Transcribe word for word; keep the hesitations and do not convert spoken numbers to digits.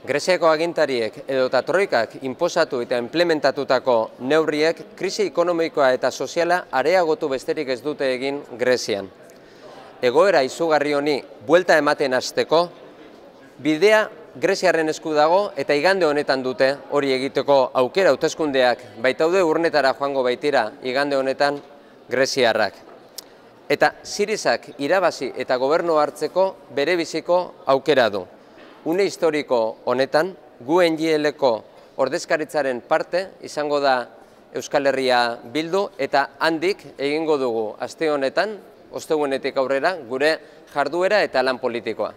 Greziako agintariek edota troikak inposatu eta implementatutako neurriek krisi ekonomikoa eta soziala areagotu besterik ez dute egin Grezian. Egoera izugarri honi buelta ematen hasteko, bidea Greziarren esku dago eta igande honetan dute hori egiteko aukera hauteskundeak baitaude urnetara joango baitira igande honetan greziarrak. Eta Sirizak irabazi eta gobernu hartzeko bere biziko aukera du. Une historiko honetan, gu N G L-ko ordezkaritzaren parte izango da Euskal Herria Bildu eta handik egingo dugu aste honetan, ostegunetik aurrera, gure jarduera eta lan politikoa.